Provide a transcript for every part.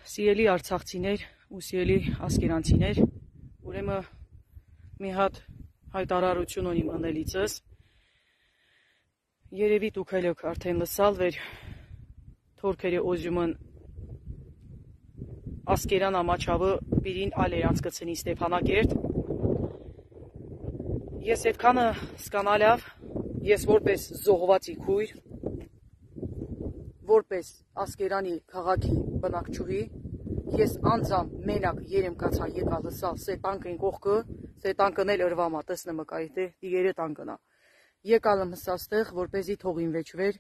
Սիրելի արցախցիներ ու սիրելի ասկերանցիներ, ուրեմն մի հատ հայտարարություն ունիմ անելիցս։ Երևի դուք էլ եք արդեն լսալ վեր թորքերը օզյումն ասկերան ամաչավը պիրին ալեր անցկացնի Ստեփանակերտ։ Ես այդքանը սկանալավ, ես որպես զոհվածի քույր, որպես ասկերանի քաղաքի բնակչուհի, ես անձամ մենակ երեմ կացա եկա լսալ սե տանկին կողքը, սե տանկն էլ ըրվամա, տեսնեմ կայտե, դիերը տանկնա։ Եկալım հսաստեղ, որպեսի թողին վեճվեր,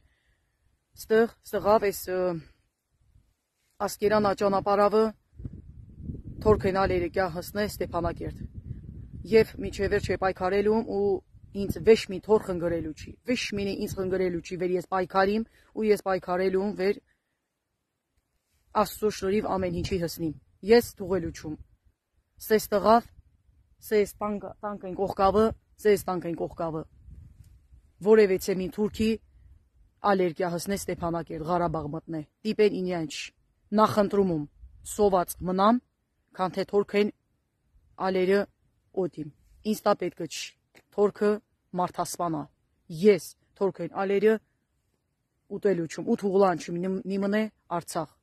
ստղավ ես ասկերանա ճանապարհավը թորքենալերը կյա հսնե Ստեփանակերտ։ Եվ միջև վերջ է պայքարելում ու ինձ վեշ մի թոր խնգրելու չի, վեշ մինի ինձ խնգրելու չի, վեր ես պայքարիմ ու ես պայքարելում վեր Աստծո շնորհիվ ամեն ինչի հսնիմ։ Ես թողելու չում։ Սես տղավ, սես տանկային կողքավը, սես տանկային կողքավը։ Որևէցե մի թուրքի ալերգիա հսնե Ստեփանակերտ, Ղարաբաղ մտնե։ Տիպեն ինյանչ նախընտրումում սոված մնամ, քան թե թորքեն ալերը օդիմ։ Ինձ տա պետք չի։ Թորքը մարդասպանա։ Ես թորքեն ալերը ուտելու չում, ու թուղլան չում նիմնե Արցախ։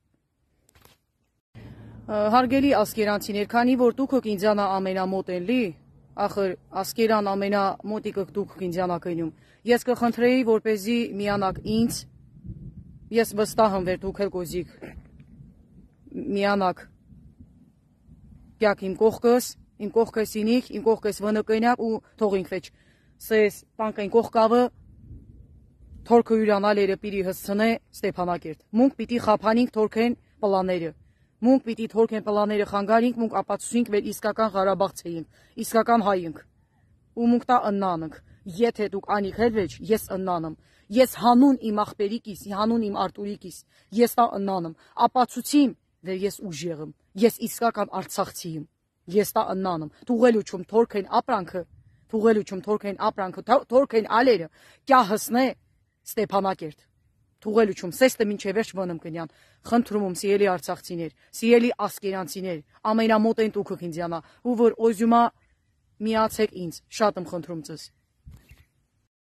Հարգելի ասկերանցիներ, քանի որ դուք եք ինձանա ամենամոտ են լի, ախր ասկերան ամենամոտիկ եք դուք ինձանա կենում, ես կխնդրեի, որպեսզի միանաք ինձ, ես վստահ եմ վեր դուք էլ կոզիկ միանաք կյակ իմ կողքս ինիք, իմ կողքս վնկենակ ու թողինք վեջ, սես տանկային կողքավը թորքը հյուրանալերը պիրի հսցնե Ստեփանակերտ, մունք պիտի խապանինք թորքեն պլաները, մունք պիտի թորքեն պլաները խանգարինք, մունք ապացուցինք վեր իսկական Ղարաբաղցեինք, իսկական հայինք, ու մունք տա ըննաննք, եթե դուք անիք հելվեջ, ես ըննանım, ես հանուն իմ աղբերիկիս, հանուն իմ Արտուրիկիս, ես տա ըննանım, ապացուցիմ վեր ես ուժեղım, ես իսկական Արցախցիիմ, ես տա ըննանım, թուղելու չում թորքեն ապրանքը, թորքեն ալերը, կյա հսնե Ստեփանակերտ, թուղելու չում, սեստը մինչև վերջ վնմ կնյան, խնդրում եմ սիրելի արցախցիներ, սիրելի ասկերանցիներ, ամենամոտ են դուք ինձյանա, ու որ օզյումա միացեք ինձ, շատ եմ խնդրում ձեզ։